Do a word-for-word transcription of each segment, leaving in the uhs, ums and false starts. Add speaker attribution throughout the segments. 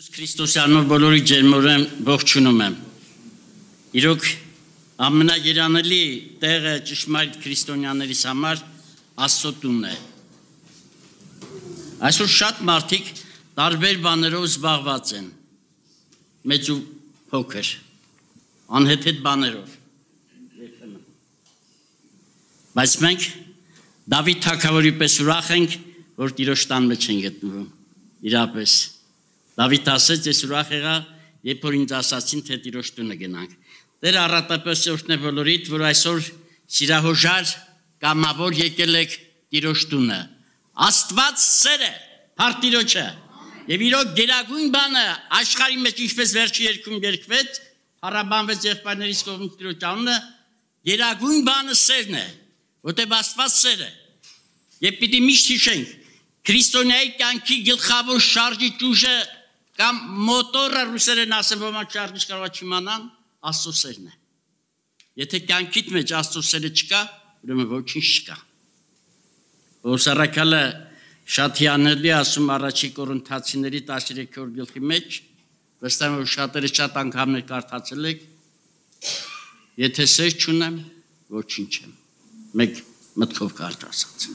Speaker 1: Հիսուս Քրիստոսյանով բոլորի ջերմորեն ողջունում եմ։ Իրոք ամենաերանելի տեղը ճշմարիտ քրիստոնյաներիս համար Աստծո տունն է։ Այսօր շատ մարդիկ տարբեր բաներով զբաղված են, մեծ ու փոքր, անհեթեթ բաներով։ Բայց մենք Դավիթ թագավորի պես ուրախ ենք, որ Տիրոջ տան մեջ են գտնվում, իրապես։ Դավիթ ասեց, ես ուրախ եղա, երբ որ ինձ ասացին, թե Տիրոջ տունը գնանք։ Տերը առատապես օրհնե բոլորիդ, որ այսօր սիրահոժար կամավոր եկել եք Տիրոջ տունը։ Աստված սեր է, փառք Տիրոջը։ Եվ իրոք գերագույն բանը աշխարհի մեջ ինչպես վերջի երկում երկվեց, փառաբանվեց եղբայրներից կողմից Տիրոջ անունը, գերագույն բանը սերն է, որտեղ Աստված սեր է։ Եվ պիտի միշտ հիշենք, քրիստոնյայի կյանքի գլխավոր շարժիչ ուժը կամ մոտորը ռուսերեն ասեմ, ոմանք շարժիչ կարող չիմանան, Աստծո սերն է։ Եթե կյանքիդ մեջ Աստծո սերը չկա, ուրեմն ոչինչ չկա։ Օսարակալը շատ հիանալի ասում առաջի Կորինթացիների տասներեքորդ գլխի մեջ, վստահ եմ, որ շատերը շատ անգամներ կարդացել եք, եթե սեր չունեմ, ոչինչ եմ։ Մեկ մտքով կարդ ասած։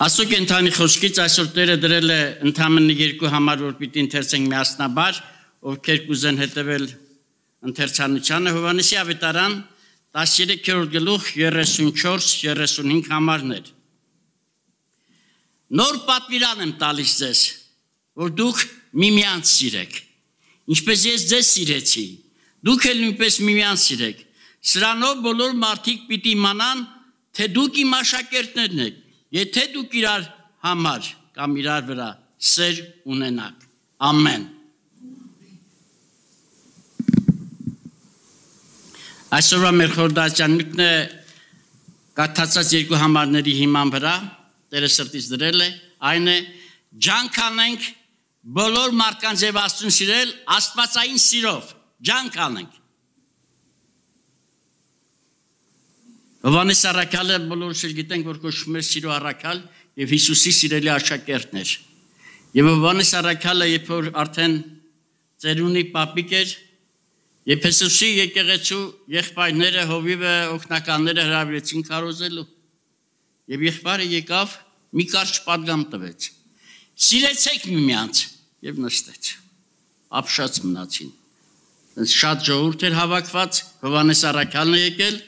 Speaker 1: Աստծո կենթանի խոսքից այսօր Տերը դրել է ընդամենը երկու համար, որ պիտի ընթերցենք միասնաբար, ովքեր կուզեն հետևել ընթերցանությանը, Հովհաննեսի ավետարան տասներեքորդ գլուխ երեսունչորս երեսունհինգ համարներ։ Նոր պատվիրան եմ տալիս ձեզ, որ դուք միմյանց սիրեք, ինչպես ես ձեզ սիրեցի, դուք էլ նույնպես միմյանց սիրեք։ Սրանով բոլոր մարդիկ պիտի իմանան, թե դուք իմ աշակերտներն եք, եթե դուք իրար համար կամ իրար վրա սեր ունենաք։ Ամեն։ Այսօրվա մեր խորհրդածյան նյութն է կարդացած երկու համարների հիման վրա, Տերը սրտից դրել է, այն է ջանք անենք բոլոր մարդկանց եւ Աստծուն սիրել աստվածային սիրով, ջանք անենք։ Հովհաննես առաքյալը բոլորս էլ գիտենք, որ կոչվում է սիրո առաքյալ եւ Հիսուսի սիրելի աշակերտն էր։ Եվ Հովհաննես առաքյալը, երբ որ արդեն ծերունի պապիկ էր, Եփեսոսի եկեղեցու եղբայրները, հովիվը, օգնականները հրավիրեցին քարոզելու։ Եվ եղբայրը եկավ, մի կարճ պատգամ տվեց։ Սիրեցեք միմյանց եւ նստեց։ Ապշած մնացին։ Շատ ժողովուրդ էր հավաքված, Հովհաննես առաքյալն է եկել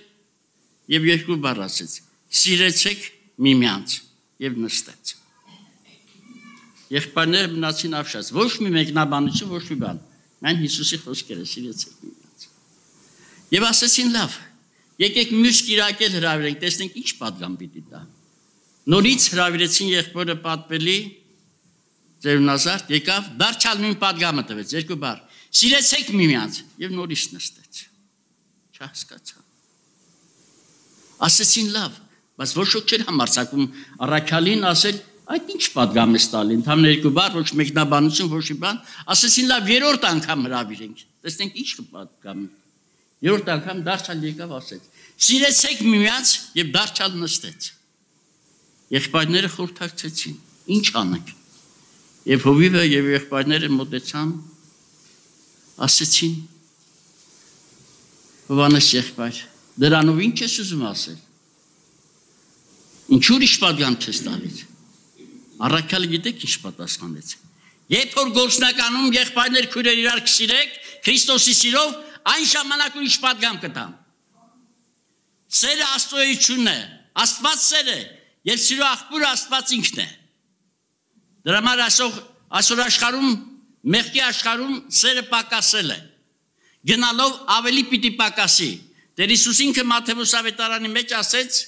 Speaker 1: եւ երկու բառ ասեց. սիրեցեք միմյանց եւ նստեց։ Եղբայրները մնացին ապշած, ոչ մի մեկնաբանություն, ոչ մի բան։ Այն Հիսուսի խոսքերը, սիրեցեք միմյանց։ Եվ ասեցին լավ, եկեք մյուս կիրակել հրավիրենք, տեսնենք ինչ պատգամ պիտի տա։ Նորից հրավիրեցին եղբորը պատվելի ծերունազարդ, եկավ, դարձյալ նույն պատգամը տվեց, երկու բառ։ Սիրեցեք միմյանց եւ նորից նստեց։ Չհասկացա։ Ասեցին լավ, բայց ոչ ոք չէր համարձակում առաքյալին ասել, այդ ինչ պատգամ է տալի, ընդհանուր երկու բառ, ոչ մեկնաբանություն, ոչ մի բան, ասեցին լավ, երրորդ անգամ հրավիրենք, տեսնենք ինչ պատգամ է։ Երրորդ անգամ դարձյալ եկավ ասեց. սիրեցեք միմյանց եւ դարձյալ նստեց։ Եղբայրները խորհրդակցեցին, ինչ անենք։ Եվ հովիվը եւ եղբայրները մոտեցան, ասեցին. Հովհաննես եղբայր, դրանով ինչ ես ուզում ասել։ Ինչու՞ ուրիշ պատգամ չես տալիս։ Առաքյալը գիտեք ինչ պատասխանեց։ Երբ որ գործնականում եղբայրներ քույրեր իրար կսիրեք, Քրիստոսի սիրով, այն ժամանակ ուրիշ պատգամ կտամ։ Սերը Աստծոյությունն է, Աստված սեր է, եւ սիրո աղբյուրը Աստված ինքն է։ Դրա համար այսօր այսօր աշխարհում, մեղքի աշխարհում սերը պակասել է։ Գնալով ավելի պիտի պակասի։ Տեր Հիսուս ինքը Մատթեոս ավետարանի մեջ ասեց.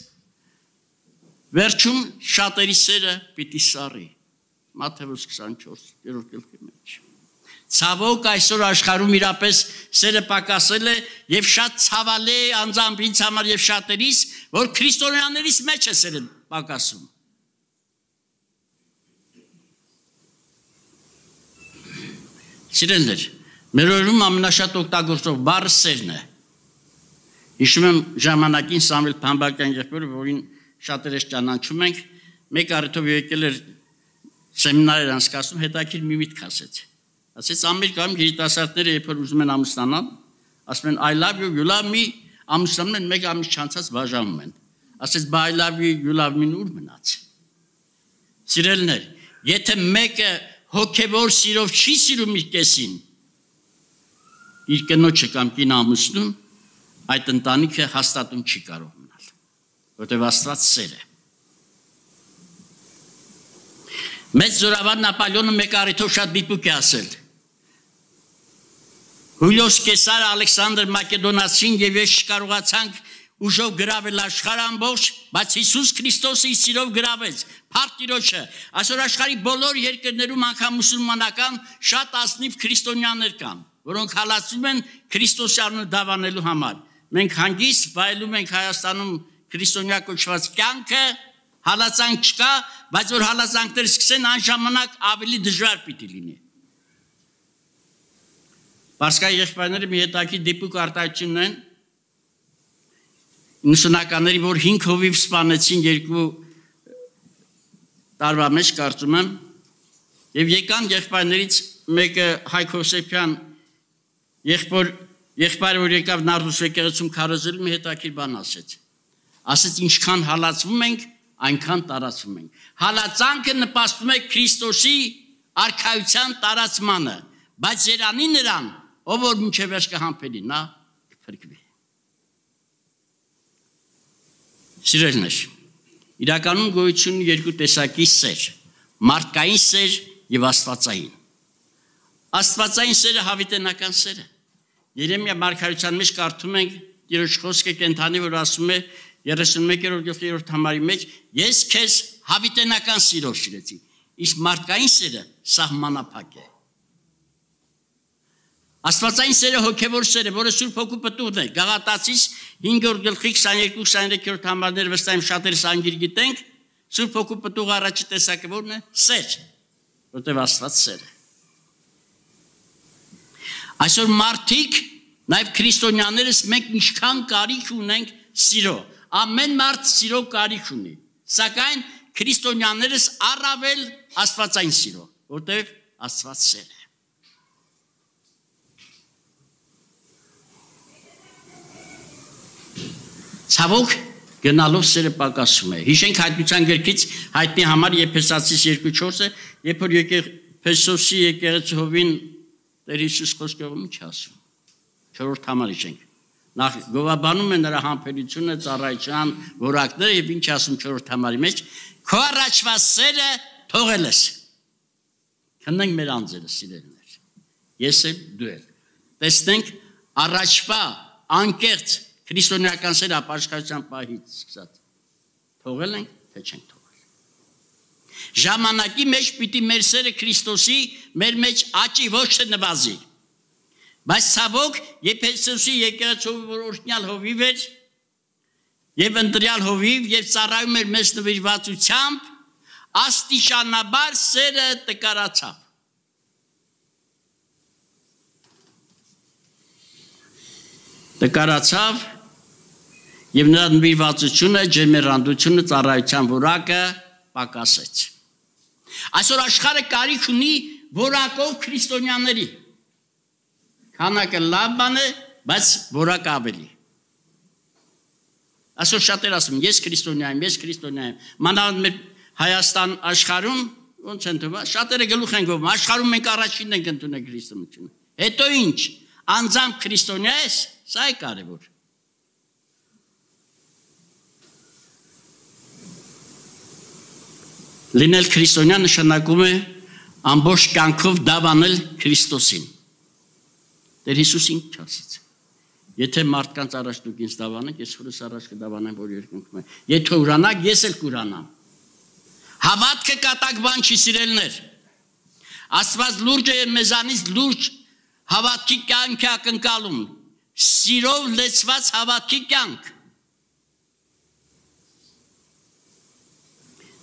Speaker 1: վերջում շատերի սերը պիտի սառի։ Մատթեոս քսանչորս գլխի մեջ։ Ցավոք այսօր աշխարհում իրապես սերը պակասել է եւ շատ ցավալի է անձամբ ինձ համար եւ շատերիս, որ քրիստոնյաներիս մեջ է սերը պակասում։ Սիրելիներ, մեր օրերում ամենաշատ օգտագործող բառը սերն է։ Հիշում եմ ժամանակին Սամվել Փամբակյան եղբայրը, որին շատերս ճանաչում ենք, մեկ առիթով եկել էր սեմինար էր անցկացնում, հետաքրքիր մի միտք ասեց։ Ասեց Ամերիկայում երիտասարդները երբ որ ուզում են ամուսնանալ, ասում են I love you, you love me, ամուսնանում են մեկ ամիս չանցած բաժանում են։ Ասեց բա I love you, you love me ուր մնաց։ Սիրելիներ, եթե մեկը հոգևոր սիրով չի սիրում իր կեսին, իր կնոջը կամ կին ամուսնում, այդ ընտանիքը հաստատում չի կարող մնալ, որտեղ Աստված սեր է։ Մեծ զորավար Նապոլեոնը մեկ առիթով շատ դիպուկ է ասել։ Հուլիոս Կեսարը, Ալեքսանդր Մակեդոնացին եւ ես չկարողացանք ուժով գրավել աշխարհը ամբողջ, բայց Հիսուս Քրիստոսը իր սիրով գրավեց փառք Տիրոջը։ Այսօր աշխարհի բոլոր երկրներում անգամ մուսուլմանական շատ ազնիվ քրիստոնյաներ կան, որոնք հալածում են Քրիստոսի անունը դավանելու համար։ Մենք հանգիստ վայելում ենք Հայաստանում քրիստոնյա կոչված կյանքը, հալածանք չկա, բայց որ հալածանքները սկսեն այն ժամանակ ավելի դժվար պիտի լինի։ Պարսկայի եղբայրները մի հետաքրքիր դիպուկ արտահայտություն ունեն իննսունականների, որ հինգ հովիվ սպանեցին երկու տարվա մեջ, կարծում եմ, եւ եկան եղբայրներից մեկը Հայկ Հովսեփյան եղբոր եղբայրը, որ եկավ Նարդուս եկեղեցում քարոզել, մի հետաքրքիր բան ասեց։ Ասեց ինչքան հալածվում ենք, այնքան տարածվում ենք։ Հալածանքը նպաստում է Քրիստոսի արքայության տարածմանը, բայց երանի նրան, ով որ մինչև վերջ կհամբերի, նա կփրկվի։ Սիրելիներ, իրականում գոյություն ունի երկու տեսակի սեր, մարդկային սեր եւ աստվածային։ Աստվածային սերը հավիտենական սեր է։ Երեմիա մարգարեության մեջ կարդում ենք Տիրոջ խոսքը կենթանի, որ ասում է երեսունմեկերորդ գլխի համարի մեջ, ես քեզ հավիտենական սիրով սիրեցի, իսկ մարդկային սերը սահմանափակ է։ Աստվածային սերը հոգևոր սեր է, որը Սուրբ Հոգու պտուղն է։ Գաղատացիս հինգերորդ գլխի քսաներկու քսաներեք համարները վստահ եմ շատերս անգիր գիտենք, Սուրբ Հոգու պտուղի առաջի տեսակը որն է։ Սեր, որտեղ Աստված սեր է։ Այսօր մարդիկ, նաև քրիստոնյաներս մենք ինչքան կարիք ունենք սիրո։ Ամեն մարդ սիրո կարիք ունի, սակայն քրիստոնյաներս առավել աստվածային սիրո, որտեղ Աստված սեր է։ Ցավոք գնալով սերը պակասում է։ Հիշենք հայտնության գրքից հայտնի համար Եփեսացիս երկու չորսը, երբ որ Եփեսոսի եկեղեցովին Տեր Հիսուս խոսքով ինչ ասում։ Չորրորդ համար հիշենք։ Նախ գովաբանում է նրա համբերությունը, ծառայության որակները եւ ինչ ասում չորրորդ համարի մեջ, քո առաջվա սերը թողել ես։ Քննենք մեր անձերը, սիրելիներ։ Ես էլ դու էլ։ Տեսնենք առաջվա անկեղծ քրիստոնեական սերը ապաշխարության պահից սկսած թողել ենք, թե չենք թողել։ Ժամանակի մեջ պիտի մեր սերը Քրիստոսի մեր մեջ աճի, ոչ թե նվազի։ Բայց ցավոք Եփեսոսի եկեղեցու որ օրհնյալ հովիվ էր եւ ընտրյալ հովիվ եւ ծառայում էր մեծ նվիրվածությամբ, աստիճանաբար սերը տկարացավ։ Տկարացավ եւ նրա նվիրվածությունը, ջերմեռանդությունը, ծառայության որակը պակասեց։ Այսօր աշխարհը կարիք ունի որակով քրիստոնյաների։ Քանակը լավ բան է, բայց որակը ավելի։ Այսօր շատեր ասում, ես քրիստոնյա եմ, ես քրիստոնյա եմ։ Մանավանդ մեր Հայաստան աշխարհում ոնց են թվում, շատերը գլուխ են գովում, աշխարհում մենք առաջինն ենք ընդունել քրիստոնեությունը։ Հետո ինչ, անձամբ քրիստոնյա ես, սա է կարևոր։ Լինել քրիստոնյա նշանակում է ամբողջ կյանքով դավանել Քրիստոսին։ Տեր Հիսուս ինչ ասաց։ Եթե մարդկանց առաջ դուք ինձ դավանեք, ես հորս առաջ կդավանեմ, որ երկնքում է։ Եթե ուրանաք, ես էլ կուրանամ։ Հավատքը կատակ բան չի, սիրելիներ։ Աստված լուրջ է մեզանից լուրջ հավատքի կյանք է ակնկալում։ Սիրով լեցված հավատքի կյանք։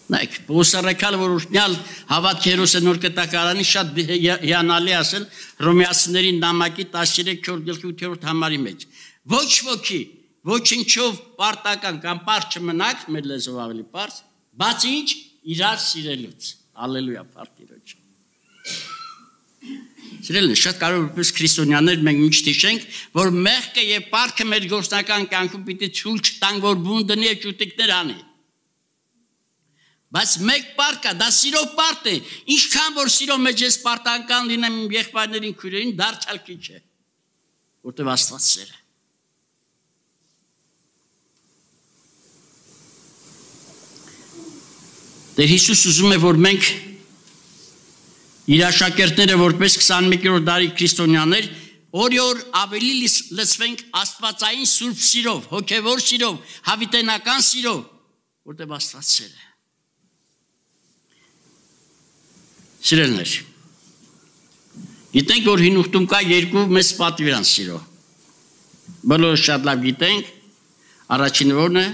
Speaker 1: Նայեք, Պողոսարաքալը, որ օրհնյալ հավատքի հերոս է նոր կտակարանի, շատ հիանալի ասել Հռոմեացիների նամակի տասներեք գլխի ութերորդ համարի մեջ։ Ոչ ոքի, ոչինչով պարտական կամ պարզ չմնաք, մեր լեզվով ավելի պարզ, բացի ինչ իրար սիրելուց։ Հալելույա, Տիրոջ։ Սիրելիներ, շատ կարող որպես քրիստոնյաներ մենք միշտ հիշենք, որ մեղքը եւ պարտքը մեր գործնական կյանքում պիտի ցույց տան, որ բուն դնի եւ ճուտիկներ անի։ Բայց մեկ պարտ կա, դա սիրո պարտ է, ինչքան որ սիրո մեջ ես պարտանական լինեմ իմ եղբայրներին, քույրերին, դարձյալ քիչ է, որտեղ Աստված սեր է։ Տեր Հիսուս ուզում է, որ մենք իր աշակերտները որպես քսանմեկերորդ դարի քրիստոնյաներ օր-օր ավելի լցվենք աստվածային սուրբ սիրով, հոգևոր սիրով, հավիտենական սիրով, որտեղ Աստված սեր է։ Սիրելիներ, գիտենք, որ հին ուխտում կա երկու մեծ պատվիրան սիրո։ Բոլորը շատ լավ գիտենք, առաջինը որն է,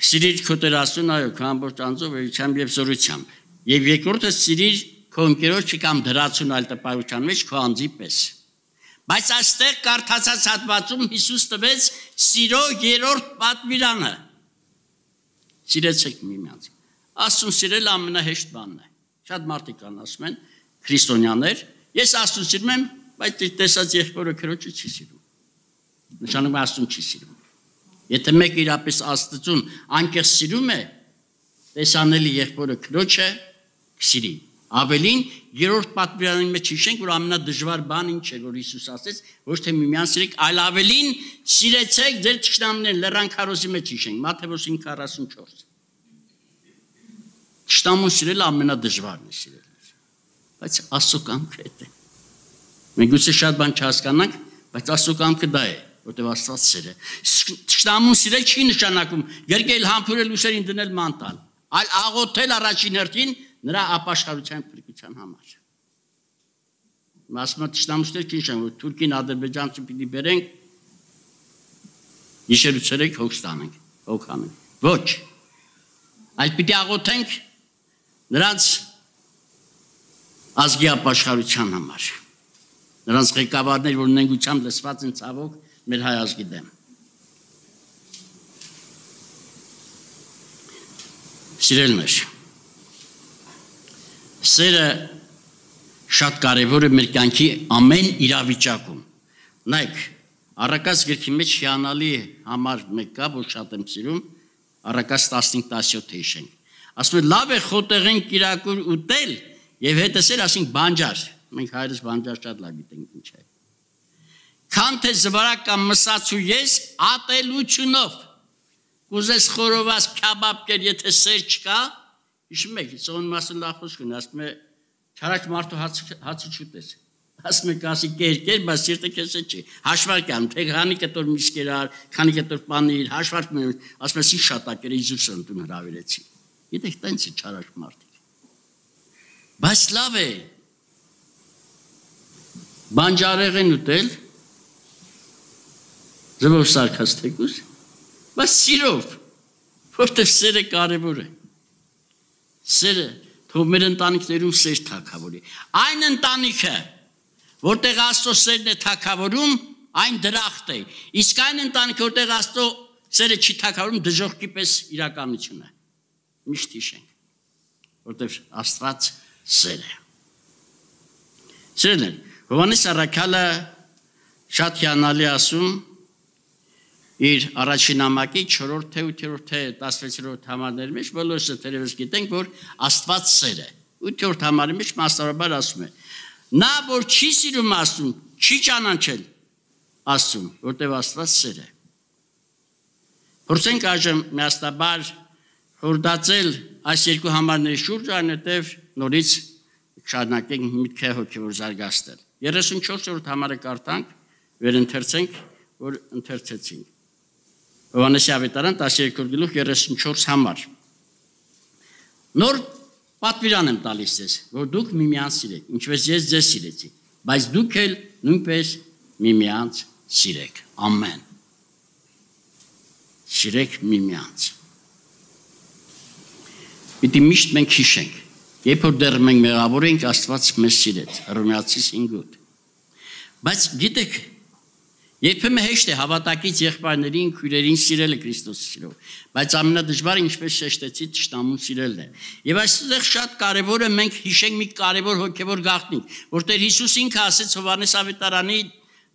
Speaker 1: սիրիր քո Տեր Աստծուն, այո, քո ամբողջ անձով, էությամբ եւ զորությամբ։ Եվ երկրորդը սիրիր քո ընկերոջը կամ դրացուն այլ տպավորության մեջ քո անձի պես։ Բայց այստեղ կարդացած հատվածում Հիսուս տվեց սիրո երրորդ պատվիրանը։ Սիրեցեք միմյանց։ Աստծուն սիրել ամենահեշտ բանն է։ Շատ մարդիկ կան ասում են քրիստոնյաներ, ես Աստծուն սիրում եմ, բայց տեսած եղբորը քրոջը չի սիրում։ Նշանակում է Աստծուն չի սիրում։ Եթե մեկը իրապես Աստծուն անկեղծ սիրում է, տեսանելի եղբորը քրոջը կսիրի։ Ավելին երրորդ պատվիրանի մեջ հիշենք, որ ամենադժվար բան ինչ է, որ Հիսուս ասեց, ոչ թե միմյանց սիրեք, այլ ավելին սիրեցեք ձեր թշնամիներին, լեռան քարոզի մեջ հիշենք, Մատթեոս հինգ քառասունչորս։ Թշնամուն սիրելը ամենադժվարն է սիրել։ Բայց Աստծո կամքը է դա։ Մենք գուցե շատ բան չհասկանանք, բայց Աստծո կամքը դա է, որտեղ Աստված սեր է։ Թշնամուն սիրել չի նշանակում գրկել, համբուրել, ուսերին դնել ման տալ, այլ աղոթել առաջին հերթին նրա ապաշխարության փրկության համար։ Մասնա թշնամուներ չի նշանակում, որ Թուրքին, Ադրբեջանցը պիտի բերենք, իշերուցերեք հոգ ստանենք, հոգ անենք։ Ոչ։ Այլ պիտի աղոթենք նրանց ազգի ապաշխարության համար։ Նրանց ղեկավարներ, որ նենգությամբ լսված են ցավոք մեր հայ ազգի դեմ։ Սիրելիներ, սերը շատ կարևոր է մեր կյանքի ամեն իրավիճակում։ Նայեք, Առակաց գրքի մեջ հիանալի համար մեկ կա, որ շատ եմ սիրում, Առակաց տասնհինգ տասնյոթ հիշենք։ Ասում է լավ է խոտեղեն կիրակուր ուտել եւ հետսել ասենք բանջար։ Մենք հայրս բանջար շատ լավ գիտենք ինչ է։ Քան թե զվարակ կամ մսացու ես ատելությունով կուզես խորոված քաբաբ կեր, եթե սեր չկա, հիշում եք, ծոն մասը լավ խոսք ունի, ասում է չարաք մարդու հացը չուտես։ Ասում եք ասի կեր կեր, բայց սիրտը քեզ չի։ Հաշվարկ անում, թե քանի կտոր միսկերար, քանի կտոր պանիր, հաշվարկ մնում, ասում ես ինչ շատակեր իզուս ընդուն հրավիրեցի։ Գիտեք, տենց է չարաք մարդիկ։ Բայց լավ է։ Բանջարեղեն ուտել, ձևով սարքած թեկուս, բայց սիրով, որտև սերը կարևոր է։ Սերը թող մեր ընտանիքներում սեր թագավորի։ Այն ընտանիքը, որտեղ Աստծո սերն է թագավորում, այն դրախտ է։ Իսկ այն ընտանիքը, որտեղ Աստծո սերը չի թագավորում, դժոխքի պես իրականություն է։ Միշտ հիշենք, որտեղ Աստված սեր է։ Սերն է, Հովհաննես առաքյալը շատ հիանալի ասում իր առաջին նամակի չորրորդ թե ութերորդ թե տասնվեցերորդ համարների մեջ բոլորս թերևս գիտենք, որ Աստված սեր է։ ութերորդ համարի մեջ մասնավորաբար ասում է. նա որ չի սիրում Աստծուն, չի ճանաչել Աստծուն, որտեղ Աստված սեր է։ Փորձենք այժմ միասնաբար խորհրդածել այս երկու համարների շուրջ, այնուհետև նորից շարունակենք միտքը հոգևոր զարգացնել։ երեսունչորսերորդ համարը կարդանք, վերընթերցենք, որ ընթերցեցինք։ Հովհաննեսի ավետարան տասներկու գլուխ երեսունչորս համար։ Նոր պատվիրան եմ տալիս ձեզ, որ դուք միմյանց սիրեք, ինչպես ես ձեզ սիրեցի, բայց դուք էլ նույնպես միմյանց սիրեք։ Ամեն։ Սիրեք միմյանց։ Պիտի միշտ մենք հիշենք, երբ որ դեռ մենք մեղավոր ենք, Աստված մեզ սիրեց, Հռոմեացիս հինգ ութ։ Բայց գիտեք, Երբեմն հեշտ է հավատակից եղբայրներին, քույրերին սիրելը Քրիստոսի սիրով, բայց ամենադժվարը, ինչպես շեշտեցի, թշնամուն սիրելն է։ Եվ այստեղ շատ կարևոր է մենք հիշենք մի կարևոր հոգևոր գաղտնիք, որտեղ Հիսուս ինքը ասեց Հովհաննես Ավետարանի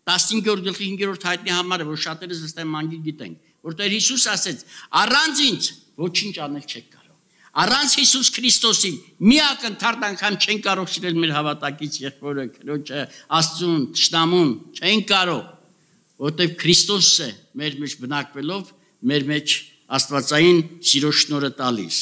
Speaker 1: տասնհինգերորդ գլխի հինգերորդ հայտնի համարը, որ շատերս վստահ մանգի գիտենք, որտեղ Հիսուս ասեց. «Առանց ինձ ոչինչ անել չեք կարող»։ Առանց Հիսուս Քրիստոսի միակ ընդհանուր անգամ չեն կարող սիրել մեր հավատակից եղբորը, քրոջը, Աստծուն, թշնամուն, չեն կարող, որտեղ Քրիստոսը մեր մեջ բնակվելով մեր մեջ աստվածային սիրո շնորհը տալիս։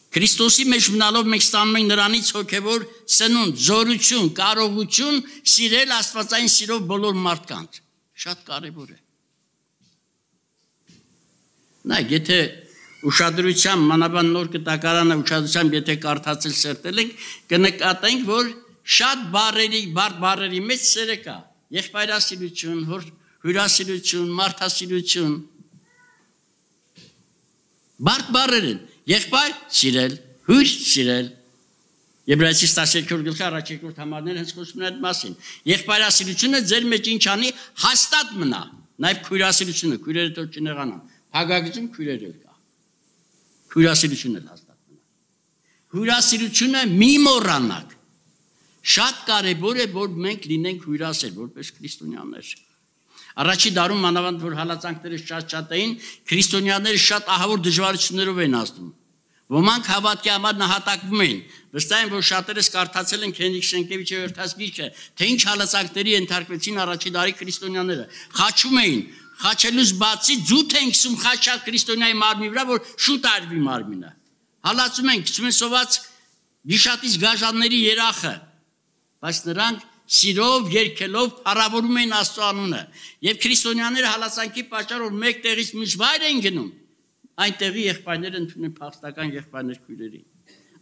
Speaker 1: Քրիստոսի մեջ մնալով մենք ստանում ենք նրանից հոգևոր սնունդ, զորություն, կարողություն սիրել աստվածային սիրով բոլոր մարդկանց։ Շատ կարևոր է։ Նայեք, եթե ուշադրությամբ մանավանդ նոր կտակարանը ուշադրությամբ եթե կարդացել սերտել ենք, կնկատենք, որ շատ բառերի, բարդ բառերի մեջ սերը կա։ Եղբայրասիրություն, հյուրասիրություն, մարդասիրություն։ Բարդ բառեր են։ Եղբայր սիրել, հյուր սիրել։ Եբրայեցիս տասներկու գլխի առաջ երկրորդ համարները հենց խոսում են այդ մասին։ Եղբայրասիրությունը ձեր մեջ ինչ անի, հաստատ մնա։ Նաև քույրասիրությունը, քույրերը թող չնեղանան։ Փագագծում քույրեր կա։ Քույրասիրությունը հաստատ մնա։ Հյուրասիրությունը մի մոռանաք։ Շատ կարևոր է, որ մենք լինենք հյուրասեր, որպես քրիստոնյաներ։ Առաջի դարում մանավանդ որ հալածանքները շատ-շատ էին, քրիստոնյաները շատ ահավոր դժվարություններով էին անցնում։ Ոմանք հավատքի համար նահատակվում էին։ Վստահ եմ, որ շատերս կարդացել են Հենրիկ Շենկևիչի հերթած գիրքը, թե ինչ հալածանքների ենթարկվեցին առաջի դարի քրիստոնյաները։ Խաչում էին, խաչելուց բացի ձուտ են գցում խաչած քրիստոնյայի մարմնի վրա, որ շուտ արվի մարմինը։ Հալածում են, գցում են սոված գիշատից գաժանների երախը, բայց նրանք սիրով, երգելով փառավորում էին Աստծո անունը։ Եվ քրիստոնյաները հալածանքի պատճառով մեկ տեղից միջվայր են գնում, այնտեղի եղբայրները ընդունել փախստական եղբայրներ քույրերի։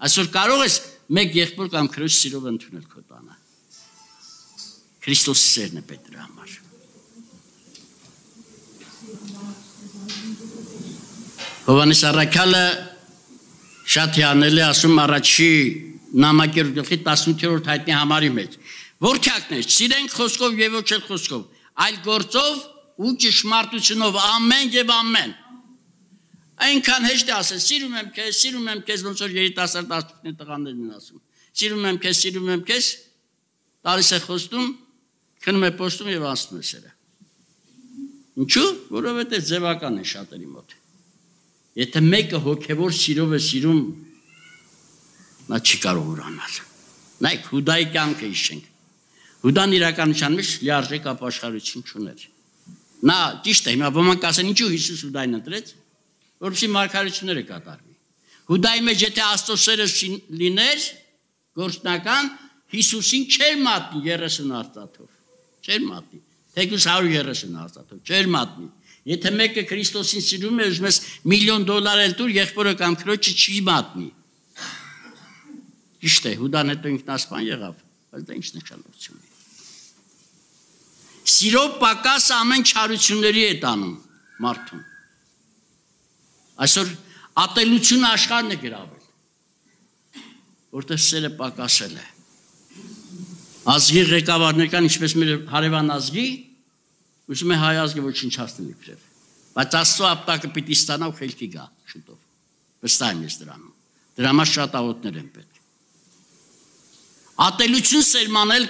Speaker 1: Այսօր կարող ես մեկ եղբոր կամ քրոջ սիրով ընդունել քո տանը։ Քրիստոսի սերն է պետք դրա համար։ Հովհաննես առաքյալը շատ հիանել է ասում առաջի նամակերու գլխի տասնութերորդ հայտնի համարի մեջ։ Որդյակներ, սիրենք խոսքով եւ ոչ էլ խոսքով, այլ գործով ու ճշմարտությունով ամեն եւ ամեն։ Այնքան հեշտ է ասել, սիրում եմ քեզ, սիրում եմ քեզ, ոնց որ երիտասարդ աստուծների տղաներն են ասում։ Սիրում եմ քեզ, սիրում եմ քեզ, տալիս է խոստում, քնում է պոստում եւ անցնում է սերը։ Ինչու՞, որովհետեւ ձևական է շատերի մոտ։ Եթե մեկը հոգևոր սիրով է սիրում, նա չի կարող ուրանալ։ Նայեք, Հուդայի կյանքը հիշենք։ Հուդան իրականության մեջ լիարժեք ապաշխարություն չուներ։ Նա ճիշտ է, հիմա ոմանք ասեն, ինչու Հիսուս Հուդային ընտրեց, որպեսզի մարգարեությունները կատարվի։ Հուդայի մեջ եթե Աստծո սերը լիներ, գործնական, Հիսուսին չէր մատնի երեսուն արծաթով։ Չէր մատնի։ Թեկուզ հարյուր երեսուն արծաթով, չէր մատնի։ Եթե մեկը Քրիստոսին սիրում է, ուզում ես միլիոն դոլար էլ տուր, եղբորը կամ քրոջը չի մատնի։ Ճիշտ է, Հուդան հետո ինքնասպան եղավ, բայց դա ինչ նշանակություն ունի։ Սիրով պակասը ամեն չարությունների է տանում մարդուն։ Այսօր ատելությունը աշխարհն է գրավել, որտեղ սերը պակասել է։ Ազգի ղեկավարներ կան, ինչպես մեր հարևան ազգի, ուզում է հայ ազգը ոչնչացնել իբրև, բայց Աստծո ապտակը պիտի ստանա ու խելքի գա շուտով։ Վստահ եմ ես դրանում։ Դրա համար շատ աղոթներ են պետք։ Ատելություն սերմանել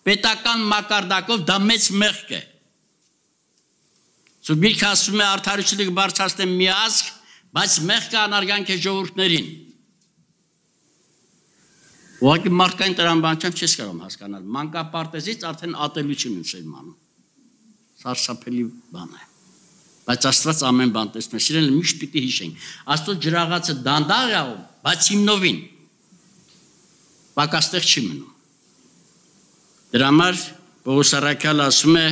Speaker 1: պետական մակարդակով դա մեծ մեղք է։ Սուրբ Գիրքը ասում է արդարությունը կբարձրացնեմ մի ազգ, բայց մեղքը անարգանք է ժողովուրդներին։ Ուղղակի մարդկային տրամաբանությամբ չես կարող հասկանալ։ Մանկապարտեզից արդեն ատելություն են սերմանում։ Սարսափելի բան է։ Բայց Աստված ամեն բան տեսնում է։ Սիրելիներ, միշտ պիտի հիշենք։ Աստծո ջրաղացը դանդաղ է, բայց հիմնովին պակաստեղ չի մնում։ Դրա համար Պողոս առաքյալը ասում է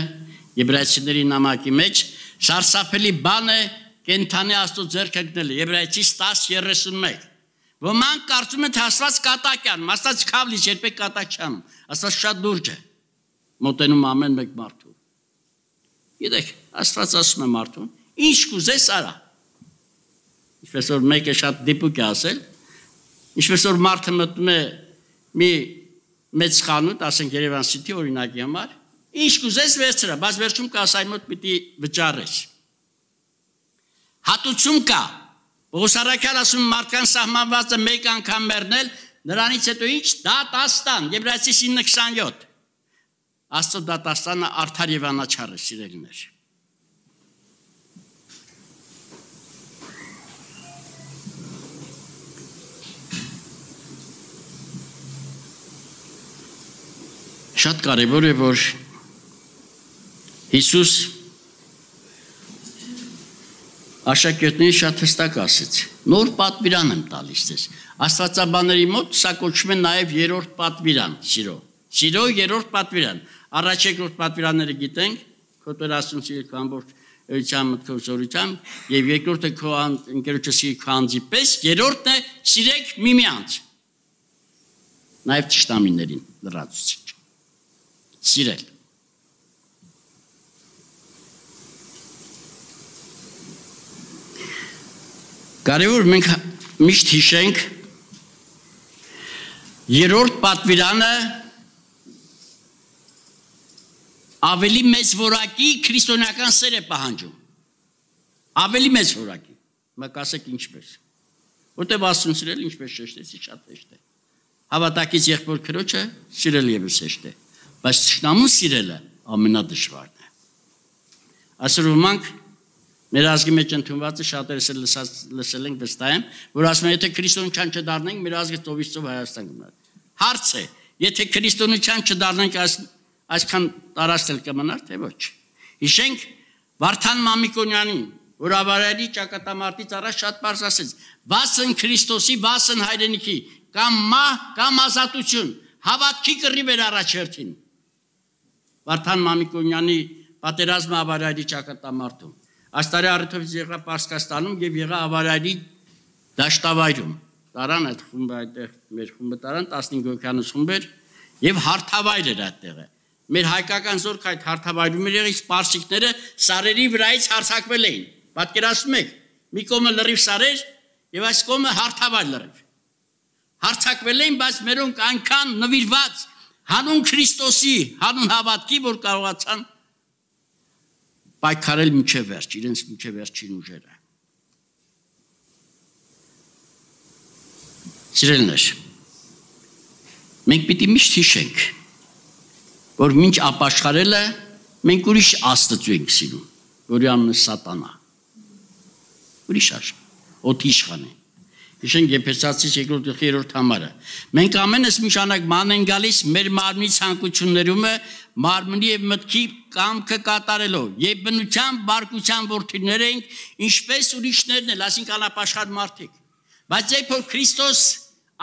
Speaker 1: Եբրայեցիների նամակի մեջ, սարսափելի բան է կենդանի Աստծո ձեռքը գնելը։ Եբրայեցիս տաս երեսունմեկ։ Ոմանք կարծում են, թե Աստված կատակ է անում, Աստված քավլից երբեք կատակ չի անում։ Աստված շատ լուրջ է։ Մոտենում ամեն մեկ մարդու։ Գիտեք, Աստված ասում է մարդուն, ինչ կուզես արա։ Ինչպես որ մեկը շատ դիպուկ է ասել, ինչպես որ մարդը մտնում է մի մեծ խանութ, ասենք Երևան City օրինակի համար, Ինչ կուզես վերցրա, բայց վերջում կասայի մոտ պիտի վճարես։ Հատուցում կա։ Պողոս առաքյալը ասում մարդկան սահմանված է մեկ անգամ մեռնել, նրանից հետո ինչ դատաստան, Եբրայեցիս ինը քսանյոթ։ Աստծո դատաստանը արդար եւ անաչառ է, սիրելիներ։ Շատ կարևոր է, որ Հիսուս աշակերտներին շատ հստակ ասեց. նոր պատվիրան եմ տալիս ձեզ։ Աստվածաբանների մոտ սա կոչվում է նաև երրորդ պատվիրան, սիրո։ Սիրո երրորդ պատվիրան։ Առաջ երկրորդ պատվիրանները գիտենք, քո Տեր Աստծուն սիրել քո ամբողջ էությամբ, մտքով, զորությամբ, եւ երկրորդը քո ընկերոջը սիրել քո անձի պես, երրորդն է սիրեք միմյանց։ Նաև թշնամիներին լրացուցիչ։ Սիրել։ Կարևոր մենք միշտ հիշենք երրորդ պատվիրանը ավելի մեծ որակի քրիստոնեական սեր է պահանջում։ Ավելի մեծ որակի։ Մեկ ասեք ինչպես։ Որտեւ Աստծուն սիրել ինչպես շեշտեցի շատ հեշտ է։ Հավատակից եղբոր քրոջը սիրել եւս հեշտ է, բայց թշնամուն սիրելը ամենադժվարն է։ Այսօր ոմանք մեր ազգի մեջ ընդունվածը շատերս էլ լսել ենք վստահ եմ, որ ասում են եթե քրիստոնեության չդառնանք, մեր ազգը ծովից ծով Հայաստան կմնա։ Հարց է, եթե քրիստոնեության չդառնանք, այսքան տարածել կմնար, թե ոչ։ Հիշենք Վարդան Մամիկոնյանին, որ ավարայրի ճակատամարտից առաջ շատ բարձ ասեց. «Վասն Քրիստոսի, վասն հայրենիքի, կամ մահ, կամ ազատություն, հավատքի կռիվ էր առաջերտին»։ Վարդան Մամիկոնյանի պատերազմը ավարայրի ճակատամարտում։ Այս տարի առիթով եղա Պարսկաստանում եւ եղա ավարայրի դաշտավայրում։ Տարան այդ խումբը այդտեղ մեր խումբը տարան տասնհինգ հոգյանոց խումբ էր եւ հարթավայր էր այդտեղը։ Մեր հայկական զորքը այդ հարթավայրում էր եղել, սպարսիկները սարերի վրայից հարձակվել էին։ Պատկերացնում եք, մի կողմը լրիվ սարեր եւ այս կողմը հարթավայր լրիվ։ Հարձակվել էին, բայց մերոնք այնքան նվիրված հանուն Քրիստոսի, հանուն հավատքի, որ կարողացան պայքարել մինչև վերջ, իրենց մինչև վերջին ուժերը։ Սիրելիներ, մենք պիտի միշտ հիշենք, որ մինչ ապաշխարելը մենք ուրիշ Աստծու ենք սիրում, որի անունը Սատանա։ Ուրիշ աշխ, օդի իշխան է։ Հիշենք Եփեսացիս երկրորդ գլխի երրորդ համարը։ Մենք ամենս միշանակ ման են գալիս մեր մարմնի ցանկություններումը, մարմնի եւ մտքի կամքը կատարելով, եւ բնության բարկության որդիներ ենք, ինչպես ուրիշներն էլ, այսինքն անապաշխար մարդիկ։ Բայց երբ որ Քրիստոս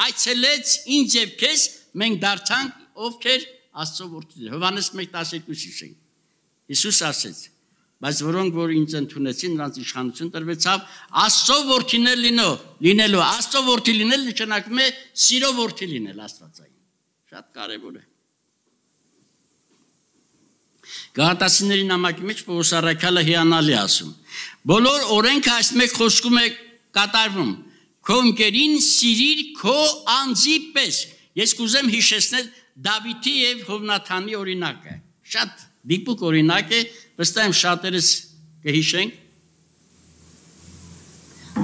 Speaker 1: այցելեց ինձ եւ քեզ, մենք դարձանք ովքեր Աստծո որդիներ։ Հովհաննես մեկ տասներկու հիշենք։ Հիսուս ասեց. բայց որոնք որ ինձ ընդունեցին, նրանց իշխանություն տրվեցավ Աստծո որդիներ լինո, լինելու, Աստծո որդի լինել նշանակում է սիրո որդի լինել Աստվածային։ Շատ կարևոր է։ Գաղատացիների նամակի մեջ Պողոս առաքյալը հիանալի ասում. բոլոր օրենքը այս մեկ խոսքում է կատարվում. քո ընկերին սիրիր քո անձի պես։ Ես կուզեմ հիշեցնել Դավիթի եւ Հովնաթանի օրինակը։ Շատ դիպուկ օրինակ է, վստահ եմ շատերս կհիշենք։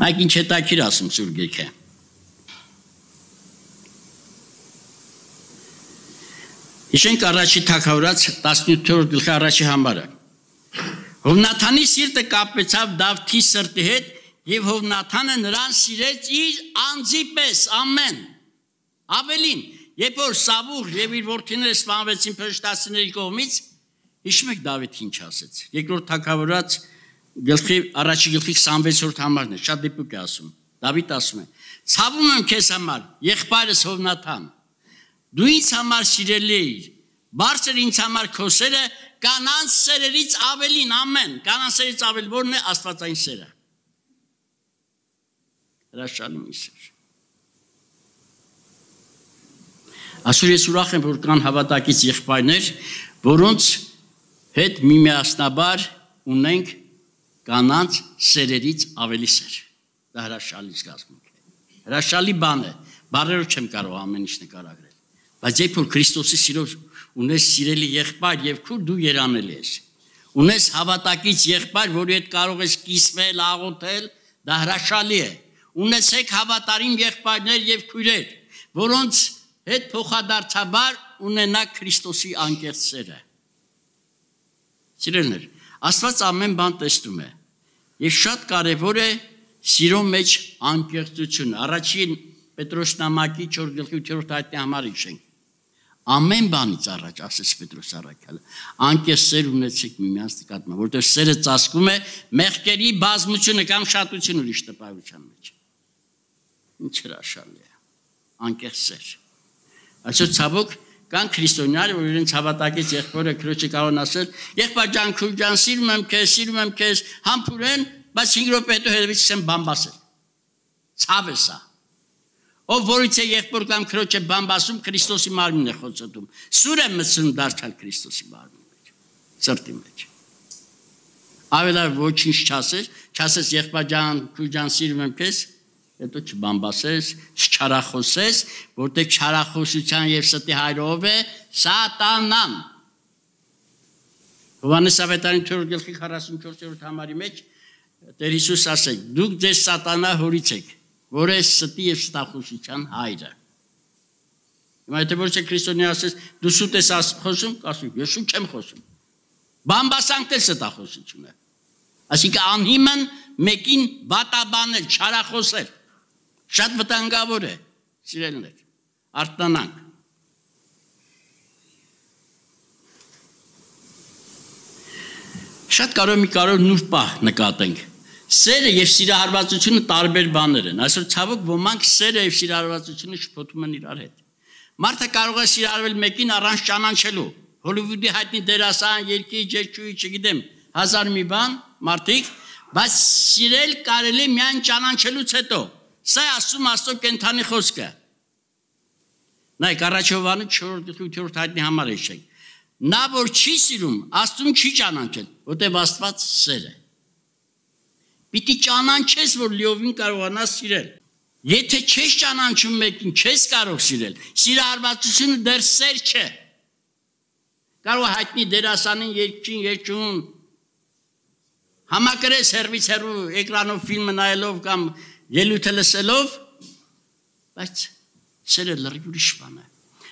Speaker 1: Այդ ինչ հետաքրքիր ասում Սուրբ Գիրքը։ Հիշենք առաջի թագավորած տասնութերորդ գլխի առաջի համարը։ Հովնաթանի սիրտը կապվեցավ Դավթի սրտի հետ եւ Հովնաթանը նրան սիրեց իր անձի պես, ամեն։ Ավելին, երբ որ Սավուղ եւ իր որդիները սպանվեցին փրկտասիների կողմից, հիշում եք Դավիթ ինչ ասեց։ Երկրորդ թագավորած գլխի առաջի գլխի քսանվեցերորդ համարն է, շատ դիպուկ է ասում։ Դավիթ ասում է. ցավում եմ քեզ համար, եղբայրս Հովնաթան։ Դու ինձ համար սիրելի ես, բարձր ինձ համար քո սերը կանանց սերերից ավելին, ամեն, կանանց սերից ավել որն է Աստվածային սերը։ Հրաշալի մի սեր։ Այսօր ես ուրախ եմ, որ կան հավատակից եղբայրներ, որոնց հետ միմիասնաբար ունենք կանանց սերերից ավելի սեր։ Դա հրաշալի զգացմունք է։ Հրաշալի բան է, բառերով չեմ կարող ամեն ինչ նկարագրել։ Բայց երբ որ Քրիստոսի սիրով ունես սիրելի եղբայր եւ քուր դու երանելի ես։ Ունես հավատակից եղբայր, որի հետ կարող ես կիսվել, աղոթել, դա հրաշալի է։ Ունեցեք հավատարիմ եղբայրներ եւ քույրեր, որոնց հետ փոխադարձաբար ունենաք Քրիստոսի անկեղծ սերը։ Սիրելիներ, Աստված ամեն բան տեսնում է եւ շատ կարեւոր է սիրո մեջ անկեղծությունը։ Առաջին Պետրոս նամակի չորս գլխի ութերորդ հայտնի համար հիշենք։ Ամեն բանից առաջ ասեց Պետրոս առաքյալը, անկեղծ սեր ունեցեք միմյանց նկատմամբ, որտեղ սերը ծածկում է մեղքերի բազմությունը կամ շատությունը ուրիշ տպավորության մեջ։ Ինչ հրաշալի է, անկեղծ սեր։ Այսօր ցավոք կան քրիստոնյաներ, որ իրենց հավատակից եղբորը քրոջը կարող են ասել, եղբայր ջան, քույր ջան, սիրում եմ քեզ, սիրում եմ քեզ, համբուրեն, բայց հինգ րոպե հետո հետևից չեմ բամբասել։ Ցավ է սա։ Ով որից է եղբոր կամ քրոջը բամբասում, Քրիստոսի մարմինն է խոցոտում։ Սուր է մտցնում դարձալ Քրիստոսի մարմնի մեջ, սրտի մեջ։ Ավելար ոչինչ չասես, չասես եղբայր ջան, քույր ջան, սիրում եմ քեզ, հետո չբամբասես, չչարախոսես, որտեղ չարախոսության եւ ստի հայրով է սատանան։ Հովհաննես ավետարանի չորրորդ գլխի քառասունչորսերորդ համարի մեջ Տեր Հիսուս ասել, դուք ձեր սատանա հորից եք, որ է ստի եւ ստախոսության հայրը։ Հիմա եթե ոչ է քրիստոնյա ասես, դու սուտ ես խոսում, ասում, ես շուտ չեմ խոսում։ Բամբասանք դե ստախոսությունը։ Այսինքն անհիմն մեկին վատաբանել, չարախոսել։ Շատ վտանգավոր է, սիրելիներ, արթնանանք։ Շատ կարող մի կարող նույն պահ նկատենք։ Սերը եւ սիրահարվածությունը տարբեր բաներ են։ Այսօր ցավոք ոմանք սերը եւ սիրահարվածությունը շփոթում են իրար հետ։ Մարդը կարող է սիրահարվել մեկին առանց ճանաչելու։ Հոլիվուդի հայտնի դերասան, երգիչ, երգչուհի, չգիտեմ, հազար մի բան, մարդիկ, բայց սիրել կարելի է միայն ճանաչելուց հետո։ Սա ասում Աստծո կենթանի խոսքը։ Նայեք առաջ Հովհաննես չորրորդ գլխի ութերորդ հայտնի համար հիշենք։ Նա որ չի սիրում, Աստծուն չի ճանաչել, որտեղ Աստված սեր է։ Պիտի ճանաչես, որ լիովին կարողանաս սիրել։ Եթե չես ճանաչում մեկին, չես կարող սիրել։ Սիրահարվածությունը դեռ սեր չէ։ Կարող հայտնի դերասանին, երգչին, երգչուհուն համակրես հեռվից հեռու էկրանով ֆիլմը նայելով կամ ելույթը լսելով, բայց սերը լրիվ ուրիշ բան է։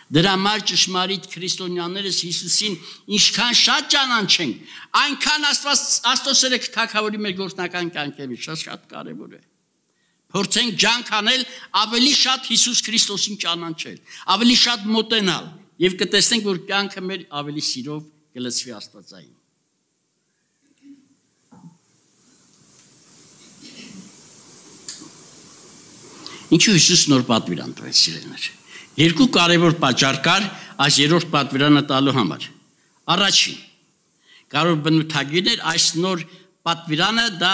Speaker 1: Դրա համար ճշմարիտ քրիստոնյաներս Հիսուսին ինչքան շատ ճանաչենք, այնքան Աստված Աստծո սերը թագավորի մեր գործնական կյանքերի շատ շատ կարևոր է։ Փորձենք ջանք անել ավելի շատ Հիսուս Քրիստոսին ճանաչել, ավելի շատ մոտենալ եւ կտեսնենք, որ կյանքը մեր ավելի սիրով կլցվի Աստվածային։ Ինչու Հիսուս նոր պատվիրան տվեց, սիրելիներ։ Երկու կարևոր պատճառ կար այս երրորդ պատվիրանը տալու համար։ Առաջին, կարող բնութագիրներ այս նոր պատվիրանը դա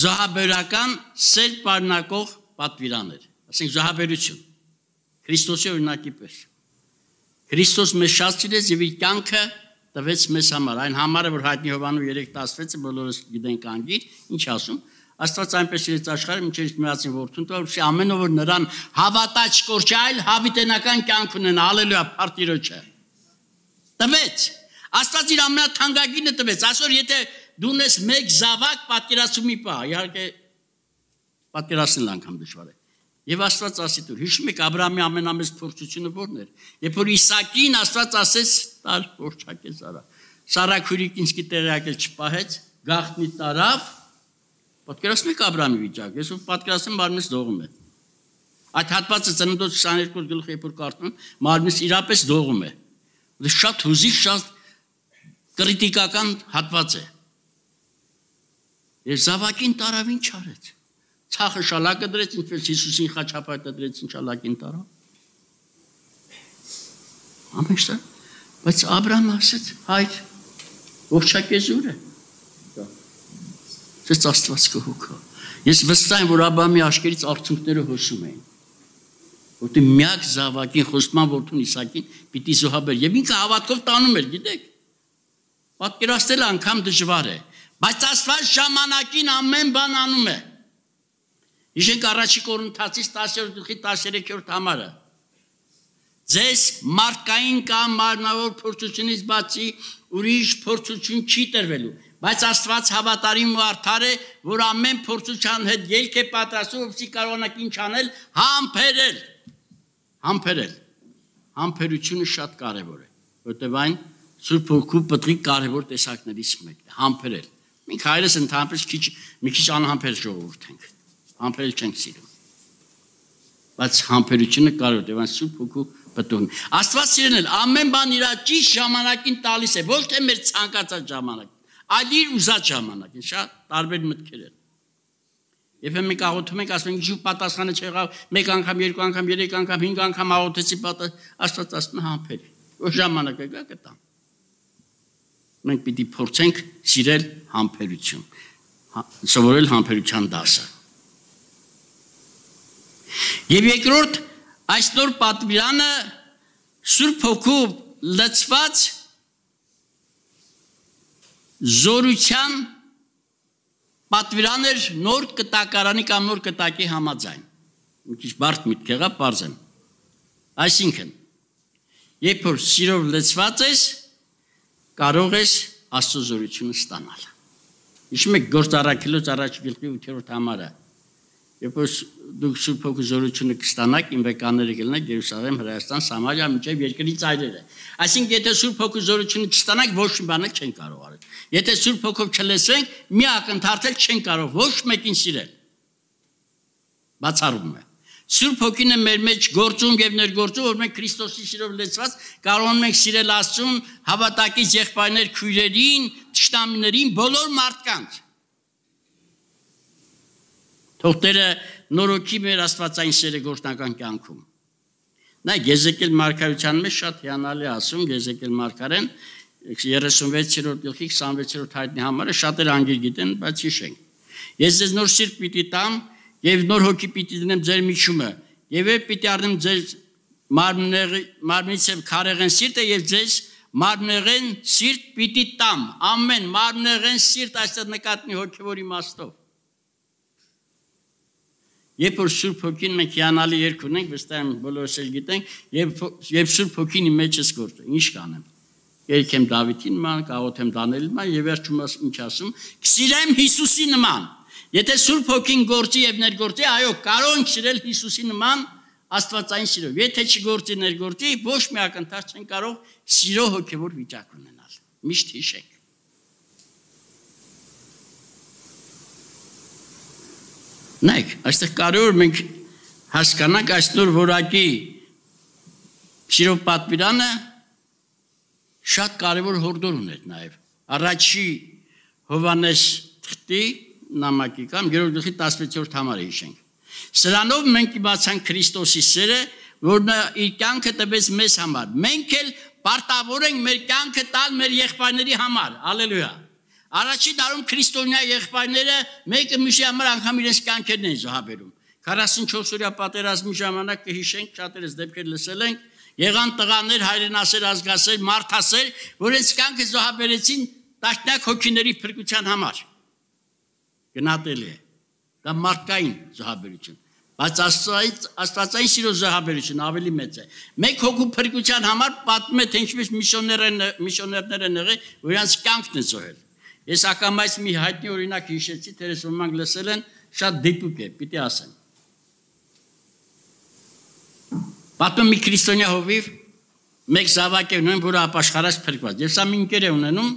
Speaker 1: զոհաբերական սեր պարունակող պատվիրան էր, ասենք զոհաբերություն, Քրիստոսի օրինակի պես։ Քրիստոս մեզ շատ սիրեց եւ իր կյանքը տվեց մեզ համար, այն համարը, որ հայտնի Հովհաննես երեք տասնվեցը բոլորս գիտենք անգիր, ինչ ասում, Աստված այնպես իրենց աշխարհը մինչև միացին որդուն տա, որ ամեն ով որ նրան հավատա չկորչի, այլ հավիտենական կյանք ունենա, հալելույա, փառտիրոջը։ Տվեց։ Աստված իր ամենաթանկագինը տվեց։ Այսօր եթե դու ունես մեկ զավակ, պատկերացումի պա, իհարկե պատկերացնել անգամ դժվար է։ Եվ Աստված ասի դուր, հիշում եք Աբրահամի ամենամեծ փորձությունը ո՞րն էր։ Երբ որ Իսակին Աստված ասեց, տար փորձակե Սարա։ Սարա քուրիկինսկի տեղակել չպահեց, գաղտնի տարավ։ Պատկերացնում եք Աբրահամի վիճակը, ես ով պատկերացնում մարմինս դողում է։ Այդ հատվածը ծննդոց քսաներկու գլխի երբ որ կարդում, մարմինս իրապես դողում է։ Դա շատ հուզիչ, շատ կրիտիկական հատված է։ Եվ զավակին տարավ ինչ արեց։ Ցախը շալակը դրեց, ինչպես Հիսուսին խաչապայտը դրեց, ինչ շալակին տարավ։ Ամենը, բայց Աբրահամը ասեց, հայր, ողջակեզուր է։ Ես Աստված կհոգա։ Ես վստահ եմ, որ Աբրահամի աշկերից արցունքները հոսում էին։ Որտեղ միակ զավակին խոստման որդուն Իսակին պիտի զոհաբեր եւ ինքը հավատքով տանում էր, գիտեք։ Պատկերացնել անգամ դժվար է, բայց Աստված ժամանակին ամեն բան անում է։ Հիշենք առաջի Կորինթացիս տասներորդ գլխի տասներեքերորդ համարը։ ձեզ մարդկային կամ մարմնավոր փորձությունից բացի ուրիշ փորձություն չի տրվելու, բայց Աստված հավատարիմ ու արդար է, որ ամեն փորձության հետ ելք է պատրաստում, որպեսզի կարողանաք ինչ անել, համբերել, համբերել, համբերությունը շատ կարևոր է, որտեղ այն Սուրբ Հոգու պտղի կարևոր տեսակներից մեկն է, համբերել։ Մենք հայրս ընդհանրապես քիչ մի քիչ անհամբեր ժողովուրդ ենք, համբերել չենք սիրում, բայց համբերությունը կարևոր է, այն Սուրբ Հոգու պտուղն է։ Աստված սիրել ամեն բան իր ճիշտ ժամանակին տալիս է, ոչ թե մեր ցանկացած ժամանակ, այլ իր ուզած ժամանակին, շատ տարբեր մտքեր են։ Երբ մենք աղոթում ենք, ասում ենք, ինչ պատասխանը չեղավ, մեկ անգամ, երկու անգամ, երեք անգամ, հինգ անգամ աղոթեցի, Աստված ասում է համբեր, որ ժամանակը գա կտամ։ Մենք պիտի փորձենք սիրել համբերություն, սովորել համբերության դասը։ Եվ երկրորդ, այս նոր պատվիրանը Սուրբ Հոգու լցված զորության պատվիրան էր նոր կտակարանի կամ նոր կտակի համաձայն։ Մի քիչ բարդ միտք եղավ, պարզեմ։ Այսինքն, երբ որ սիրով լցված ես, կարող ես Աստծո զորությունը ստանալ։ Հիշում եք Գործ առաքելոց առաջ գլխի ութերորդ համարը, երբ որ դուք Սուրբ Հոգու զորությունը կստանաք, իմ վեկաները կլինեք Երուսաղեմ, Հրեաստան, Սամարիա, մինչև երկրի ծայրերը։ Այսինքն, եթե Սուրբ Հոգու զորությունը չստանաք, ոչ մի բան չեն կարող անել։ Եթե Սուրբ Հոգով չլսենք, մի ակնթարթել չեն կարող ոչ մեկին սիրել։ Բացառում է։ Սուրբ Հոգին է մեր մեջ գործում եւ ներգործում, որ մենք Քրիստոսի սիրով լեցված կարող ենք սիրել Աստծուն, հավատակից եղբայրներ, քույրերին, թշնամիներին, բոլոր մարդկանց։ Թող Տերը նորոգի մեր աստվածային սերը գործնական կյանքում։ Նայեք, Եզեկիել մարգարեության մեջ շատ հիանալի ասում, Եզեկիել մարգարեն երեսունվեցերորդ գլխի քսանվեցերորդ հայտնի համարը շատեր անգիր գիտեն, բայց հիշենք։ Ես ձեզ նոր սիրտ պիտի տամ եւ նոր հոգի պիտի դնեմ ձեր միջումը, եւ ես պիտի առնեմ ձեր մարմնից եւ քարեղեն սիրտը եւ ձեզ մարմնեղեն սիրտ պիտի տամ։ Ամեն մարմնեղեն սիրտ այստեղ նկատնի հոգեվոր իմաստով։ Երբ որ Սուրբ Հոգին մենք հիանալի երկ ունենք, վստահ եմ բոլորս էլ գիտենք, եւ Սուրբ Հոգին իմ մեջս գործում, ինչ կանեմ։ Երգեմ Դավիթի նման, կաղոթեմ Դանիելի նման եւ վերջում ինչ ասում, կսիրեմ Հիսուսի նման։ Եթե Սուրբ Հոգին գործի եւ ներգործի, այո, կարող ենք սիրել Հիսուսի նման աստվածային սիրով։ Եթե չգործի ներգործի, ոչ մի ակնթարթ չեն կարող սիրո հոգեվոր վիճակ ունենալ։ Միշտ հիշեք։ Նայեք, այստեղ կարևոր մենք հասկանանք այս նոր որակի սիրով պատվիրանը շատ կարևոր հորդոր ուներ նաև։ Առաջի Հովհաննես թղթի նամակի կամ երրորդ գլխի տասնվեցերորդ համարը հիշենք։ Սրանով մենք իմացանք Քրիստոսի սերը, որ նա իր կյանքը տվեց մեզ համար։ Մենք էլ պարտավոր ենք մեր կյանքը տալ մեր եղբայրների համար։ Հալելույա։ Առաջի դարում քրիստոնյա եղբայրները մեկը մյուսի համար անգամ իրենց կյանքերն են զոհաբերում։ քառասունչորս օրյա պատերազմի ժամանակ կհիշենք, շատերս դեպքեր լսել ենք, եղան տղաներ, հայրենասեր, ազգասեր, մարդասեր, որ այս կյանքը զոհաբերեցին տաշնակ հոգիների փրկության համար։ Գնահատելի է։ Դա մարդկային զոհաբերություն, բայց աստվածային սիրո զոհաբերություն ավելի մեծ է։ Մեկ հոգու փրկության համար պատմում է, թե ինչպես միսիոներներ են եղել, որ իրենց կյանքն են զոհել։ Ես ակամայից մի հայտնի օրինակ հիշեցի, թերես ոմանք լսել են, շատ դիպուկ է, պիտի ասեմ։ Պատմում մի քրիստոնյա հովիվ, մեկ զավակ է ունեն, որը ապաշխարած փրկված։ Եվ սա մի ընկեր է ունենում,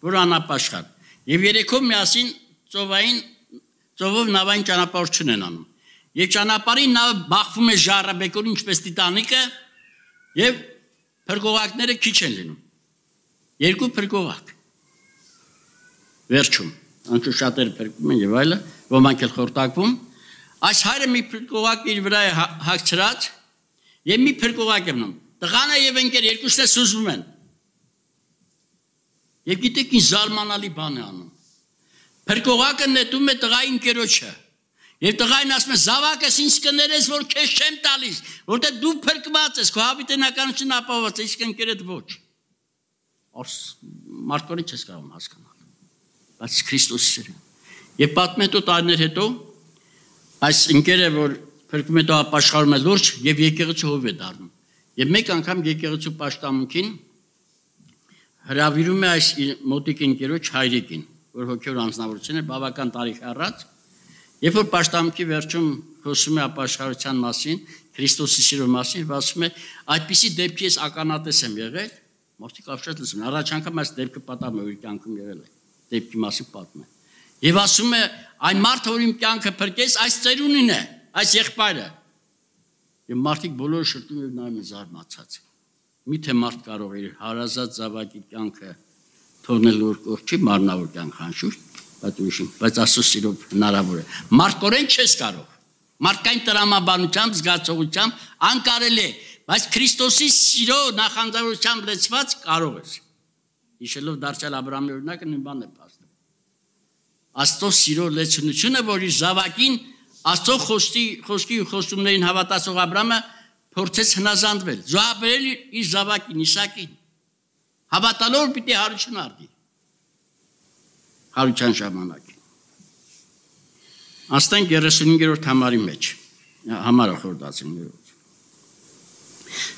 Speaker 1: որը անապաշխար։ Եվ երեքով միասին ծովային, ծովով նավային ճանապարհություն են անում։ Եվ ճանապարհին նավը բախվում է ժառաբեկորին, ինչպես Տիտանիկը, եւ փրկողակները քիչ են լինում։ Երկու փրկողակ։ Վերջում, անչու շատերը փրկվում են եւ այլը, ոմանք էլ խորտակվում, այս հայրը մի փրկողակ իր վրա է հագցրած եւ մի փրկողակ է մնում։ Տղանը եւ ընկեր երկուսն էլ սուզվում են։ Եվ գիտեք ինչ զարմանալի բան է անում։ Փրկողակը նետում է տղայի ընկերոջը։ Եվ տղային ասում է զավակս ինձ կներես, որ քեզ չեմ տալիս, որտեղ դու փրկված ես, քո հավիտենականությունը ապահովված է, իսկ ընկերդ ոչ։ Մարդկորեն չես կարող հասկանալ։ Բայց Քրիստոսի սերը։ Եվ պատմետո տարիներ հետո այս ընկերը, որ փրկում հետո ապաշխարում է լուրջ եւ եկեղեցու հով է դառնում։ Եվ մեկ անգամ եկեղեցու պաշտամունքին հրավիրում է այս մոտիկ ընկերոջ հայրիկին, որ հոգևոր անձնավորություն է բավական տարիք առաջ, երբ որ պաշտամունքի վերջում խոսում է ապաշխարության մասին, Քրիստոսի սիրո մասին, ասում է, այդպիսի դեպքի ես ականատես եմ եղել, մարդիկ ապշած լսում են, առաջ անգամ այս դեպքը պատմում է, որ կյանքում եղել է, դեպքի մասին պատմում է։ Եվ ասում է, այն մարդը, որ իմ կյանքը փրկեց, այս ծերունին է, այս եղբայրը։ Եվ մարդիկ բոլորը շրջում եւ նայում են զարմացած։ Միթե մարդ կարող է իր հարազատ զավակի կյանքը թողնել որ կողքի մարմնավոր կյանք անշուշտ, բայց ուրիշին, բայց Աստծո սիրով հնարավոր է։ Մարդկորեն չես կարող։ Մարդկային տրամաբանությամբ, զգացողությամբ անկարելի է, բայց Քրիստոսի սիրո նախանձավորությամբ լեցված կարող ես։ Հիշելով դարձյալ Աբրահամի օրինակը նույն բանն է փաստում։ Աստծո սիրո լեցունությունը, որ իր զավակին Աստծո խոսքի խոսքի ու խոստումներին հավատացող Աբրահամը փորձեց հնազանդվել, զոհաբերել իր զավակին Իսակին, հավատալով պիտի հարություն արդի։ Հարության ժամանակին։ Աստենք երեսունհինգերորդ համարի մեջ, համարը խորդացիններով։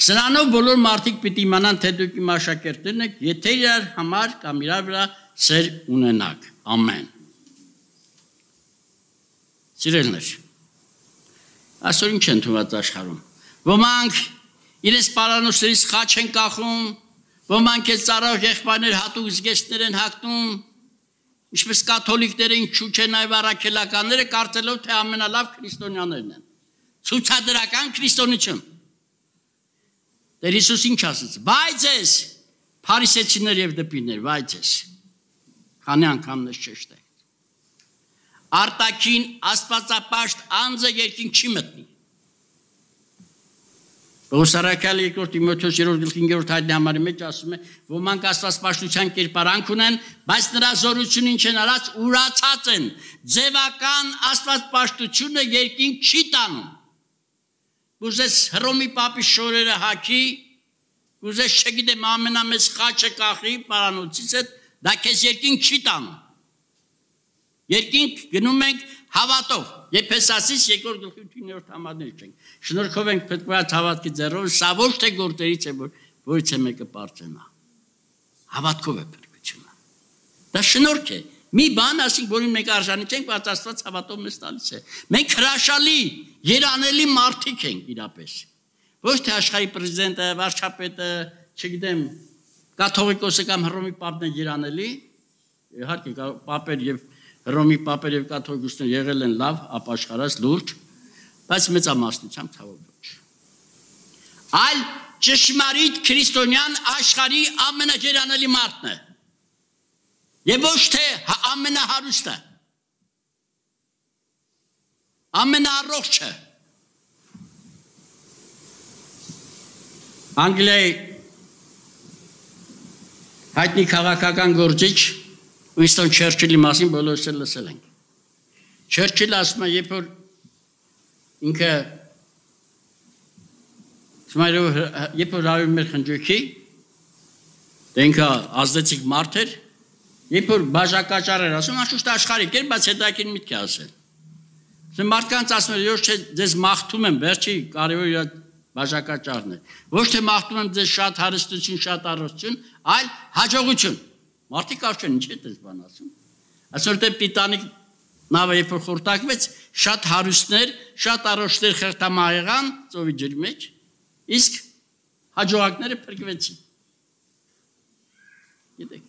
Speaker 1: Սրանով բոլոր մարդիկ պիտի իմանան, թե դուք իմ աշակերտներն եք, եթե իրար համար կամ իրար վրա սեր ունենաք։ Ամեն։ Սիրելներ, այսօր ինչ են թվում աշխարհում։ Ոմանք իրենց պարանոցներից խաչ են կախում, ոմանք էլ ծառայող եղբայրներ հատուկ զգեստներ են հագնում, ինչպես կաթոլիկները ինչու չեն այլ առաքելականները կարծելով թե ամենալավ քրիստոնյաներն են։ Ցուցադրական քրիստոնեություն։ Տեր Հիսուս ինչ ասաց. «Բայց ես փարիսեցիներ եւ դպիներ, բայց ես քանի անգամ նշ չշտեք։ Արտաքին աստվածապաշտ անձը երկին չի մտնի»։ Պողոսարակալի երկրորդ Տիմոթեոս երրորդ գլխի հինգերորդ հայտնի համարի մեջ ասում է, ոմանք աստվածպաշտության կերպարանք ունեն, բայց նրա զորությունը ինչ են արած, ուրացած են, ձևական աստվածպաշտությունը երկինք չի տանում։ Ուզես Հռոմի պապի շորերը հագի, ուզես չգիտեմ ամենամեծ խաչը կախի պարանոցից հետ, դա քեզ երկինք չի տանում։ Երկինք գնում ենք հավատով, Եփեսացիս երկրորդ գլխի ութներորդ համարներ չենք։ Շնորհքով ենք փրկված հավատքի ձեռով, սա ոչ թե գործերից է, որ որից է մեկը պարծենա։ Հավատքով է փրկությունը։ Դա շնորհք է։ Մի բան, ասենք, որին մենք արժանի չենք, բայց Աստված հավատով մեզ տալիս է։ Մենք հրաշալի, երանելի մարդիկ ենք իրապես։ Ոչ թե աշխարհի պրեզիդենտը, վարչապետը, չգիտեմ, կաթողիկոսը կամ Հռոմի պապն է երանելի, իհարկե պապեր եւ Հռոմի պապեր եւ կաթողիկոսները եղել են լավ, ապաշխարած, լուրջ, բայց մեծամասնությամբ ցավոք ոչ։ Այլ ճշմարիտ քրիստոնյան աշխարհի ամենաերանելի մարդն է։ Եվ ոչ թե ամենահարուստը, ամենաառողջը։ Անգլիայի հայտնի քաղաքական գործիչ Ուինստոն Չերչիլի մասին բոլորս էլ լսել ենք։ Չերչիլը ասում է, երբ որ ինքը երբ որ հավիմ մեր խնջույքի, դե ինքը ազդեցիկ մարդ էր, երբ որ բաժակաճառ էր ասում, անշուշտ աշխարհիկ էր, բայց հետաքրքիր միտք է ասել։ Ասում մարդկանց ասում էր, ոչ թե ձեզ մաղթում եմ, վերջի կարևոր իր բաժակաճառն է։ Ոչ թե մաղթում եմ ձեզ շատ հարստություն, շատ առողջություն, այլ հաջողություն։ Մարդիկ արդեն ինչ է դες բան ասում։ Այսօր դե Տիտանիկ նավը երբ որ խորտակվեց, շատ հարուստներ, շատ առողջներ խրտամահ ծովի ջրի մեջ, իսկ հաջողակները փրկվեցին։ Գիտեք։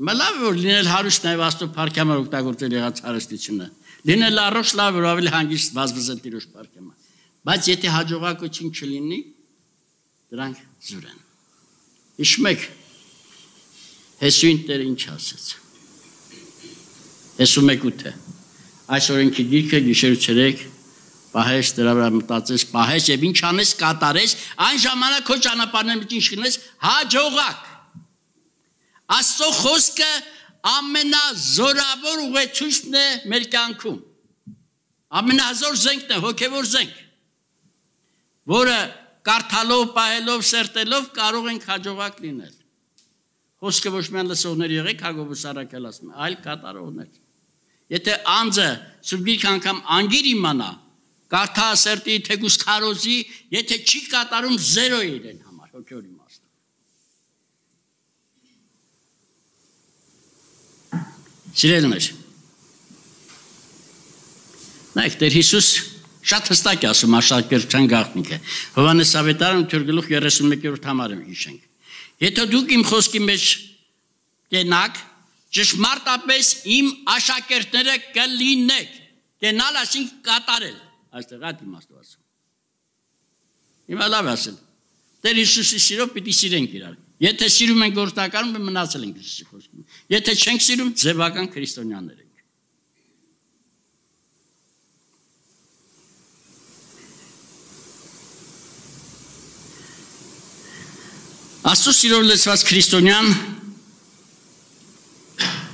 Speaker 1: Մալավ որ լինել հարուստ նաև Աստծո փառքամար օգտագործել եղած հարստությունը։ Լինել առողջ լավ որ ավելի հանգիստ վազվզել Տիրոջ փառքամար։ Բայց եթե հաջողակություն չլինի, դրանք զուր են։ Հիշում եք Հեսուին Տերը ինչ ասեց։ Հեսու մեկ ութը։ Այս օրենքի գիրքը գիշեր ցերեկ պահես դրա վրա մտածես, պահես եւ ինչ անես կատարես, այն ժամանակ քո ճանապարհների մեջ ինչ կնես, հաջողակ։ Աստծո խոսքը ամենազորավոր ուղեցույցն է մեր կյանքում։ Ամենազոր զենքն է, հոգևոր զենք, որը կարդալով, պահելով, սերտելով կարող ենք հաջողակ լինել։ Խոսքը ոչ միայն լսողներ եղեք, Հակոբոս Արաքել ասում է, այլ կատարողներ։ Եթե անձը սուրբ գիրքը անգամ անգիր իմանա, կարդա սերտի, թեկուս քարոզի, եթե չի կատարում զերո է իրեն համար, հոգևոր իմաստով։ Սիրելիներ, նայեք, Տեր Հիսուս շատ հստակ է ասում աշակերտության գաղտնիքը։ Հովհաննես Ավետարան ութ գլուխ երեսունմեկերորդ համարը հիշենք։ Եթե դուք իմ խոսքի մեջ կենաք, ճշմարտապես իմ աշակերտները կլինեք։ Կենալ ասինք կատարել։ Այստեղ այդ իմաստով ասում։ Հիմա լավ ասել։ Տեր Հիսուսի սիրով պիտի սիրենք իրար։ Եթե սիրում ենք գործնականում, մնացել ենք Հիսուսի խոսքին։ Եթե չենք սիրում, ձևական քրիստոնյաներ ենք։ Աստծո սիրով լեցված քրիստոնյան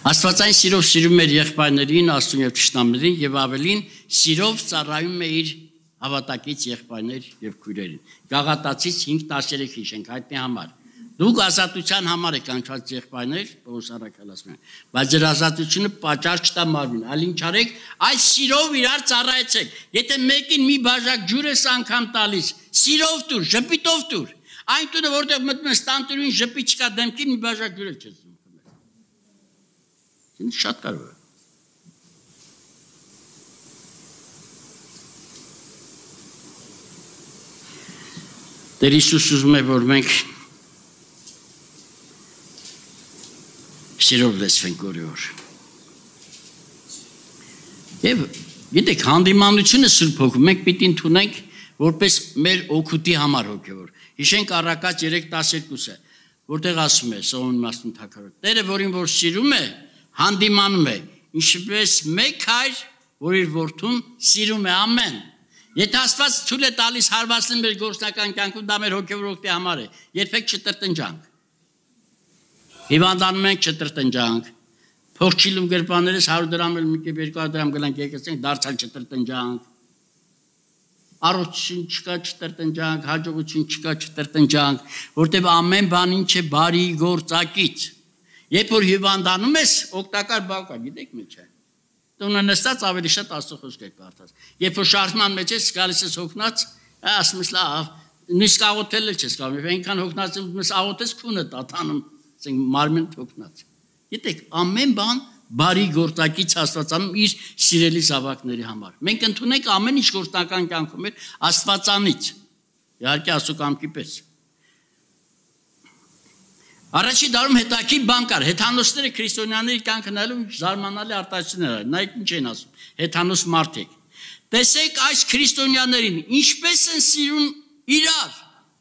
Speaker 1: Աստվածային սիրով սիրում էր եղբայրներին, Աստծուն եւ թշնամներին եւ ավելին սիրով ծառայում է իր հավատակից եղբայրներ եւ քույրերին։ Գաղատացից հինգ տասներեք հիշենք հայտնի համար։ Դուք ազատության համար եք կանչված եղբայրներ, Պողոս առաքյալը ասում է, բայց ձեր ազատությունը պատճառ չտա մարմին, այլ ինչ արեք, այս սիրով իրար ծառայեցեք։ Եթե մեկին մի բաժակ ջուր ես անգամ տալիս, սիրով տուր, ժպիտով տուր։ Այն տունը, որտեղ մտնում ես տանտիրուհին ժպիտ չկա դեմքին, մի բաժակ ջուր չես ուտում։ Ինձ շատ կարևոր է։ Տեր Հիսուս ուզում է, որ մենք սիրով լեցվենք օրի օր։ Եվ գիտեք, հանդիմանությունը Սուրբ Հոգու մենք պիտի ընդունենք որպես մեր օգուտի համար հոգևոր։ Հիշենք Առակաց երեք տասներկուսը, որտեղ ասում է Սողոմոն Մասնուն թագավորը. Տերը, որին որ սիրում է, հանդիմանում է, ինչպես մեկ հայր, որ իր որդուն սիրում է, ամեն։ Եթե Աստված ցույց է տալիս հարվածին մեր գործնական կյանքում, դա մեր հոգևոր օգտի համար է։ Երբեք չտրտնջանք։ Հիվանդանում ենք չտրտնջանք։ Փող չիլում գրպաներս հարյուր դրամ էլ մի կերպ երկու հարյուր դրամ գլանք եկեցենք, դարձյալ չտրտնջանք։ Առողջություն չկա չտրտնջանք, հաջողություն չկա չտրտնջանք, որտեղ ամեն բան ինչ է բարի գործակից։ Երբ որ հիվանդանում ես, օգտակար բան կա, գիտեք մի չէ։ Տունը նստած ավելի շատ Աստծո խոսք եք կարդաց։ Երբ որ շարժման մեջ ես, գալիս ես հոգնած, ասում ես լավ, նույնիսկ աղոթել էլ չես կարող, այնքան հոգնած ես, աղոթես քունը տատանում, ասենք մարմին հոգնած։ Գիտեք, ամեն բան բարի գործակից Աստվածանում իր սիրելի զավակների համար։ Մենք ընդունենք ամեն ինչ գործնական կյանքում մեր Աստվածանից։ Իհարկե Աստծո կամքի պես։ Առաջի դարում հետաքրքիր բան կար, հեթանոսները քրիստոնյաների կյանքը նայելով զարմանալի արտահայտություններ են, նայեք ինչ են ասում, հեթանոս մարդիկ։ Տեսեք այս քրիստոնյաներին, ինչպես են սիրում իրար,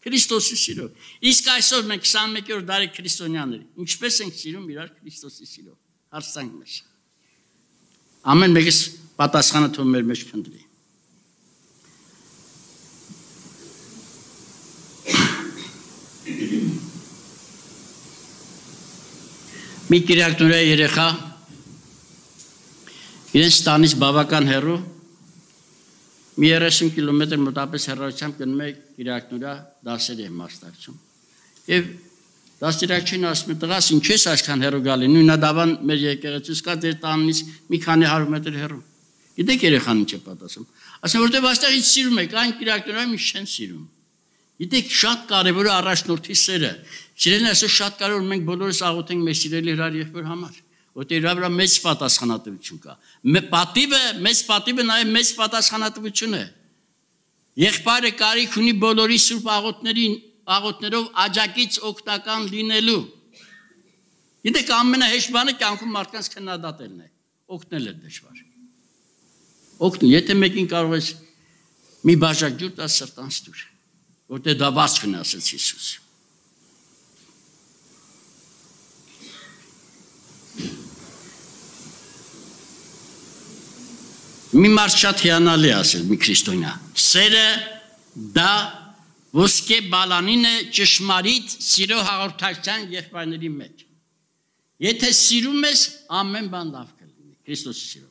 Speaker 1: Քրիստոսի սիրով։ Իսկ այսօր մենք քսանմեկերորդ դարի քրիստոնյաները, ինչպես ենք սիրում իրար Քրիստոսի սիրով։ Հարցանք մեզ։ Ամեն մեկս պատասխանը թող մեր մեջ փնտրի։ Մի կիրակնորյա երեխա իրենց տանից բավական հեռու մի երեսուն կիլոմետր մոտապես հեռավորությամբ գնում է կիրակնորյա դասերի մասնակցում։ Եվ դաստիարակչին ասում է, տղաս ինչ ես այսքան հեռու գալի, նույնադավան մեր եկեղեցուց կա ձեր տանից մի քանի հարյուր մետր հեռու։ Գիտեք երեխան ինչ է պատասխանում։ Ասում որտեղ այստեղ ինչ սիրում եք, այն կիրակնորյա ինչ չեն սիրում։ Գիտեք, շատ կարևոր է առաջնորդի սերը։ Սիրելին այսօր շատ կարևոր մենք բոլորս աղոթենք մեր սիրելի հրաշք եղբայր համար, որտեղ իր վրա մեծ պատասխանատվություն կա։ Պատիվը, մեծ պատիվը նաև մեծ պատասխանատվություն է։ Եղբայրը կարիք ունի բոլորի սուրբ աղոթներին, աղոթներով աջակից օգտական լինելու։ Գիտեք, ամենահեշտ բանը կյանքում մարդկանց քննադատելն է, օգնել է դժվար։ Օգնել, եթե մեկին կարող ես մի բաժակ ջուր տաս սրտանց դուր, որտեղ դա բաց քնի ասեց Հիսուս։ Մի մարդ շատ հիանալի ասել, մի քրիստոնյա, սերը դա ոսկե բալանին է ճշմարիտ սիրո հաղորդակցության եղբայրների մեջ։ Եթե սիրում ես, ամեն բան լավ կլինի, Քրիստոսի սիրով։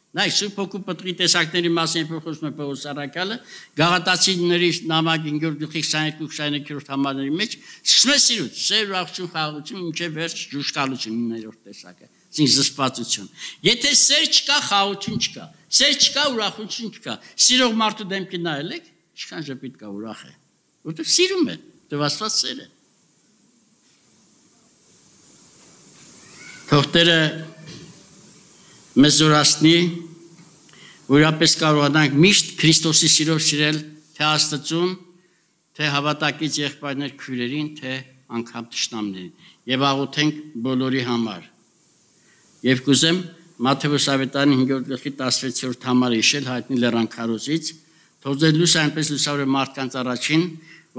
Speaker 1: Նայ, Սուրբ Հոգու պտղի տեսակների մասին խոսում է Պողոս առաքյալը, Գաղատացիների նամակ հինգերորդ գլխի քսաներկու քսաներկերորդ համարների մեջ սկսում է սիրուց, սեր, ուրախություն, խաղաղություն, մինչև վերջ ջուշկալություն իններորդ տեսակը։ Այսինքն զսպվածություն։ Եթե սեր չկա, խաղաղություն չկա։ Սեր չկա, ուրախություն չկա։ Սիրող մարդու դեմքի նայել եք, ինչքան ժպիտ կա, ուրախ է։ Որտեղ սիրում է, դեռ Աստված սեր է։ Թող Տերը մեզ զորացնի, որապես կարողանանք միշտ Քրիստոսի սիրով սիրել թե Աստծուն, թե հավատակից եղբայրներ քույրերին, թե անգամ թշնամներին եւ աղոթենք բոլորի համար։ Եվ կուզեմ Մատթեոս ավետարանի հինգերորդ գլխի տասնվեցերորդ համարը հիշել հայտնի Լեռան քարոզից, թող ձեր լույսը այնպես լուսավորե մարդկանց առաջին,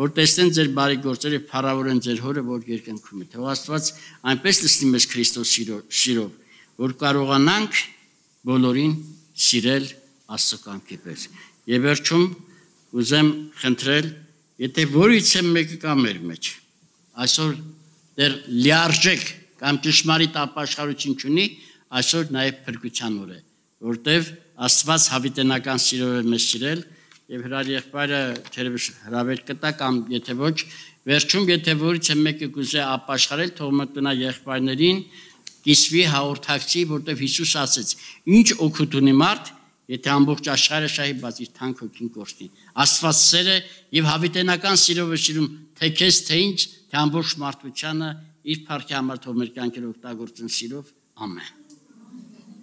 Speaker 1: որ տեսնեն ձեր բարի գործերը եւ փառավորեն ձեր Հորը, որ երկնքում է։ Թող Աստված այնպես լցնի մեզ Քրիստոս սիրով, որ կարողանանք բոլորին սիրել Աստծո կամքի պես։ Եվ վերջում ուզեմ խնդրել, եթե որից է մեկը կա մեր մեջ, այսօր դեռ լիարժեք կամ ճշմարիտ ապաշխարություն չունի, այսօր նաև փրկության օր է, որտեվ Աստված հավիտենական սիրով է մեզ սիրել եւ հրար եղբայրը թերևս հրավեր կտա կամ եթե ոչ, վերջում եթե որից է մեկը կուզե ապաշխարել, թող մտնա եղբայրներին, կիսվի հաղորդակցի, որտեվ Հիսուս ասեց. «Ինչ օգուտ ունի մարդ, եթե ամբողջ աշխարհը շահի, բայց իր թանկ հոգին կորցնի»։ Աստված սեր է եւ հավիտենական սիրով է սիրում թե քեզ, թե ինձ, թե ամբողջ մարդկությանը իր փառքի համար թող մեր կյանքերը օգտագործեն սիրով։ Ամեն։